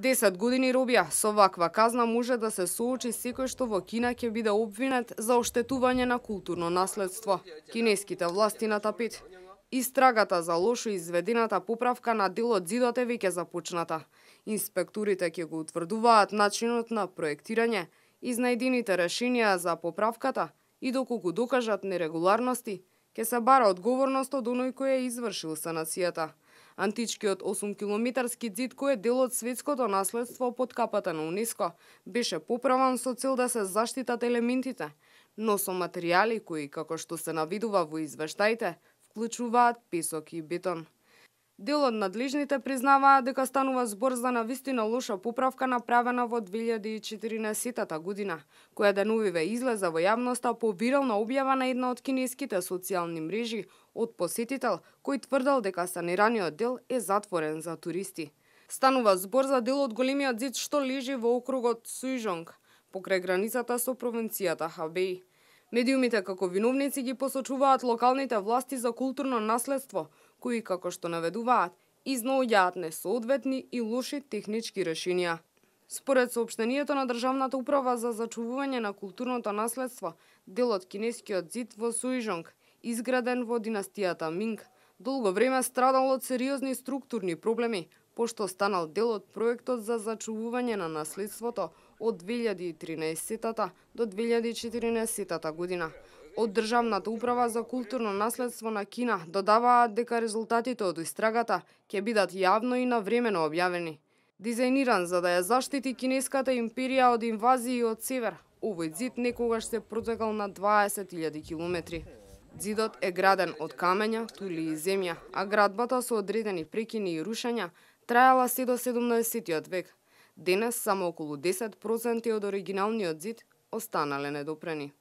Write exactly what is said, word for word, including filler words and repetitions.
десет години робија, со ваква казна може да се соочи секој што во Кина ќе биде обвинет за оштетување на културно наследство. Кинеските власти на тапет. Истрагата за лошо изведената поправка на дел од зидот е веќе започната. Инспекторите ќе го утврдуваат начинот на проектирање, изнајдените решенија за поправката и доколку докажат нерегуларности, ќе се бара одговорност од оној кој е извршил санацијата. Античкиот осумкилометарски ѕид, кој е дел од светското наследство под капата на УНЕСКО, беше поправан со цел да се заштитат елементите, но со материјали кои, како што се наведува во извештаите, вклучуваат песок и бетон. Дел од надлежните признаваат дека станува збор за навистина лоша поправка направена во две илјади и четирнаесетта година, која деновиве излезе во јавноста по вирална објава на една од кинеските социјални мрежи од посетител кој тврдел дека санираниот дел е затворен за туристи. Станува збор за дел од големиот ѕид што лежи во округот Сујжонг, покрај границата со провинцијата Хабеј. Медиумите како виновници ги посочуваат локалните власти за културно наследство, кои, како што наведуваат, изнаоѓаат несоодветни и лоши технички решенија. Според соопштението на Државната управа за зачувување на културното наследство, дел од кинескиот ѕид во Сујжонг, изграден во династијата Минг, долго време страдал од сериозни структурни проблеми, пошто станал дел од проектот за зачувување на наследството од две илјади и тринаесетта до две илјади и четирнаесетта година. Од Државната управа за културно наследство на Кина додаваат дека резултатите од истрагата ќе бидат јавно и навремено објавени. Дизајниран за да ја заштити кинеската империја од инвазии од север, овој ѕид некогаш се протегал на дваесет илјади километри. Ѕидот е граден од камења, тули и земја, а градбата со одредени прекини и рушења траела се до седумнаесеттиот век. Денес само околу десет проценти од оригиналниот ѕид останале недопрени.